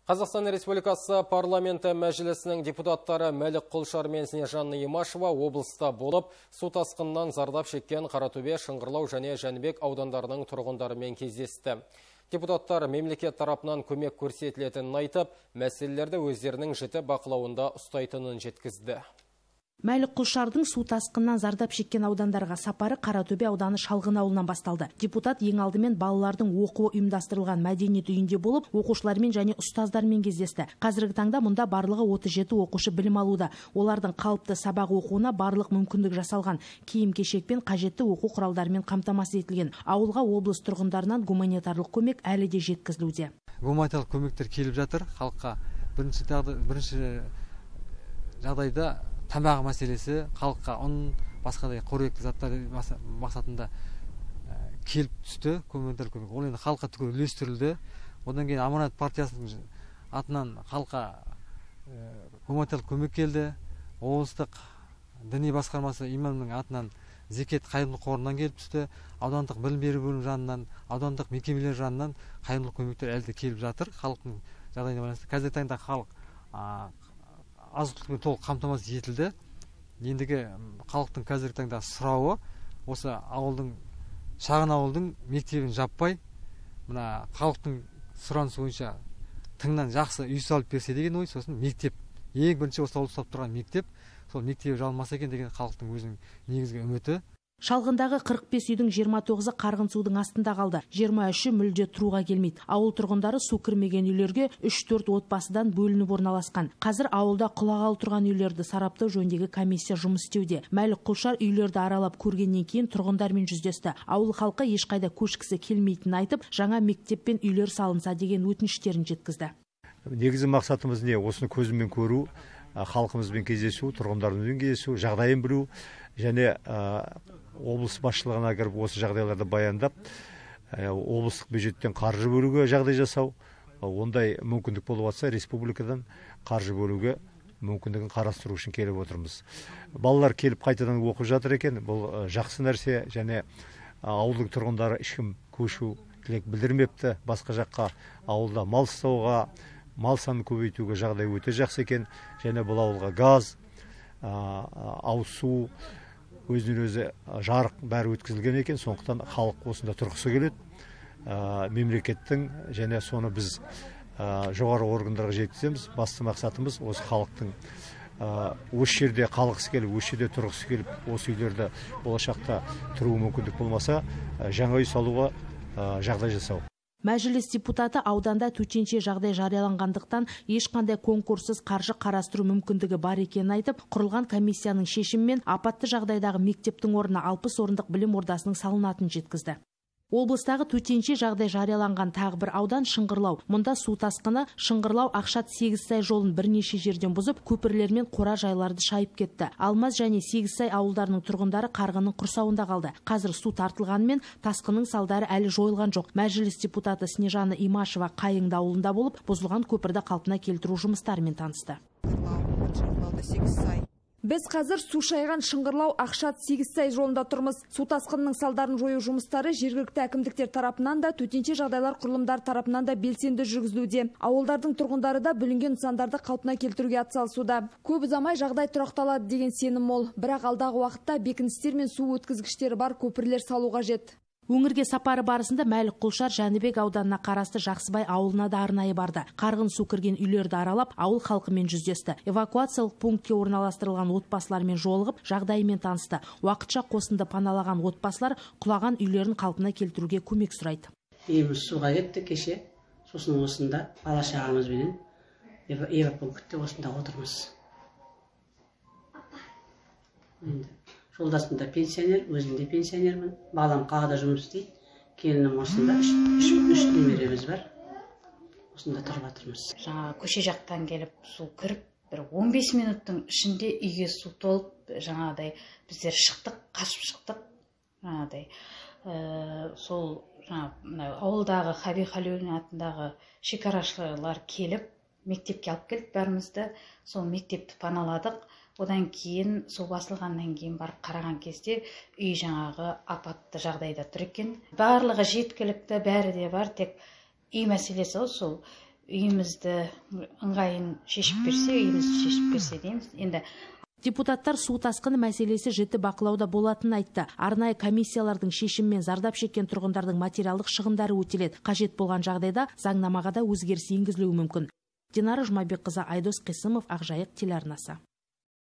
Қазақстан Республикасы парламенті мәжілісінің депутаттары Мәлік Құлшар мен Снежанна Имашева облыста болып, су тасқынынан зардап шеккен Қаратөбе, Шыңғырлау және Жәнібек аудандарының тұрғындарымен кездесті. Депутаттар мемлекет тарапынан көмек көрсетілетінін айтып, мәселелерді өздерінің жіті бақылауында ұстайтынын жеткізді. Мәлік Құлшардың су тасқынынан зардап шеккен аудандарға сапары Қаратөбе ауданы Шалғын ауылынан басталды. Депутат ең алдымен балалардың оқуы ұйымдастырылған мәдениет үйінде болып, оқушылармен және ұстаздармен кездесті. Қазіргі таңда мұнда барлығы 37 оқушы білім алуда. Олардың қалыпты сабақ оқуына барлық мүмкіндік жасалған. Киім-кешек пен қажетті оқу құралдарымен қамтамасыз етілген. Ауылға облыс тұрғындарынан гуманитарлық көмек әлі де жеткізілуде. Гуманитарлық көмектер келіп жатыр халыққа. Бірінші жағдайда тамақ мәселесі, халыққа ұн, басқадай қоректі заттар мақсатында келіп түсті. Гуманитарлық көмек. Ол енді халыққа түгел үлестірілді. Одан кейін Аманат партиясының атынан халыққа гуманитарлық көмек келді. Облыстық діни басқармасы имамның атынан зекет қайырымдылық қорынан келіп түсті. Аудандық білім беру бөлімі жанынан, аудандық мекемелер жанынан қайырымдылық көмектер әлі де келіп жатыр. Халықтың жағдайына байланысты. Қазіргі таңда халық азық-түлікпен толық қамтамасыз етілді. Ендігі халықтың қазіргі таңда сұрауы осы ауылдың, шағын ауылдың мектебін жаппай, мына халықтың сұранысы бойынша тыңнан жақсы үй салып берсе деген ой. Сосын мектеп, ең бірінші осы ауылда ұстап тұрған мектеп, сол мектебі жалынмаса екен деген халықтың өзінің негізгі үміті. Шалғындағы 45 үйдің 29-ы қарғын судың астында қалды. 23-і мүлде тұруға келмейді. Ауыл тұрғындары су кірмеген үйлерге 3-4 отбасыдан бөлініп орналасқан. Қазір ауылда құлағалы тұрған үйлерді сараптау жөніндегі комиссия жұмыс істеуде. Мәлік Құлшар үйлерді аралап көргеннен кейін тұрғындармен жүздесті. Ауыл халқы ешқайда көшкісі келмейтінін айтып, жаңа мектеп пен үйлер салынса деген өтініштерін жеткізді. Негізгі мақсатымыз не? Осыны көзіммен көру, халқымызбен кездесу, тұрғындармен кездесу, жағдайын білу және облыс басшылығына кіріп осы жағдайларды баяндап, облыстық бюджеттен қаржы бөлуге жағдай жасау. Ондай мүмкіндік болып жатса, республикадан қаржы бөлуге мүмкіндігін қарастыру үшін келіп отырмыз. Балалар келіп қайтадан оқып жатыр екен. Бұл жақсы нәрсе, және ауылдың тұрғындары ешкім көшу тілек білдірмепті. Басқа жаққа ауылда мал ұстауға, мал санын көбейтуге жағдай өте жақсы екен. Және бұл ауылға газ, ауыз су, өзінен өзі жарық бәрі өткізілген екен. Сондықтан халық осында тұрғысы келеді. Мемлекеттің және соны біз жоғары органдарға жеткіземіз. Басты мақсатымыз осы халықтың осы жерде қалғысы келіп, осы жерде тұрғысы келіп, осы үйлерді болашақта тұру мүмкіндік болмаса, жаңа үй салуға жағдай жасау. Мәжіліс депутаты ауданда төтенше жағдай жарияланғандықтан ешқандай конкурссыз қаржы қарастыру мүмкіндігі бар екенін айтып, құрылған комиссияның шешімімен апатты жағдайдағы мектептің орнына 60 орындық білім ордасының салынатынын жеткізді. Облыстағы төтенше жағдай жарияланған тағы бір аудан Шыңғырлау. Мұнда су тасқыны Шыңғырлау Ақшат Сегізсай жолын бірнеше жерден бұзып, көпірлер мен қора жайларды шайып кетті. Алмаз және Сегізсай ауылдарының тұрғындары қарғынның құрсауында қалды. Қазір су тартылғанымен тасқынның салдары әлі жойылған жоқ. Мәжіліс депутаты Снежанна Имашева Қайыңды ауылында болып, бұзылған көпірді қалпына келтіру жұмыстарымен танысты. Біз қазір су шайған Шыңғырлау Ақшат Сегізсай жолында тұрмыз. Су тасқынының салдарын жою жұмыстары жергілікті әкімдіктер тарапынан да, төтенше жағдайлар құрылымдар тарапынан да белсенді жүргізілуде. Ауылдардың тұрғындары да бүлінген нысандарды қалпына келтіруге атсалысуда. Көп ұзамай жағдай тұрақталады деген сенім мол. Бірақ алдағы уақытта бекіністер мен су өткізгіштері бар көпірлер салу қажет. Өңірге сапары барысында Мәлік Құлшар Жәнібек ауданына қарасты Жақсыбай ауылына да арнайы барды. Қарғын су кірген үйлерді аралап, ауыл халқымен жүздесті. Эвакуациялық пунктке орналастырылған отбасылармен жолығып, жағдайымен танысты. Уақытша қосынды паналаған отбасылар құлаған үйлерін қалпына келтіруге көмек сұрайды. Үйіміз суға кетті кеше. Сосын осында бала шағамызбенен эвакуативтте осында отырмыз. Жолдасым да пенсионер, өзім де пенсионермін. Балам қалада жұмыс істейді. Келінім осында, үш немереміз бар. Осында тұрып жатырмыз. Жаңа көше жақтан келіп су кіріп, бір 15 минуттың ішінде үйге су толып, жаңағыдай біздер шықтық, қашып шықтық. Жаңағыдай сол ауылдағы Хаби Халиуллин атындағы шекарашылар келіп, мектепке алып келіп бәрімізді, сол мектепті паналадық. Одан кейін су басылғаннан кейін барып қараған кезде үй жаңағы апатты жағдайда тұр екен. Барлығы жеткілікті, бәрі де бар, тек үй мәселесі сол үйімізді ыңғайын шешіп берсе, үйімізді шешіп берсе дейміз. Енді депутаттар су тасқыны мәселесі жіті бақылауда болатынын айтты. Арнайы комиссиялардың шешімімен зардап шеккен тұрғындардың материалдық шығындары өтеледі. Қажет болған жағдайда заңнамаға да өзгеріс енгізілуі мүмкін. Динара Жұмабекқызы, Айдос Қисымов, Ақжайық телеарнасы.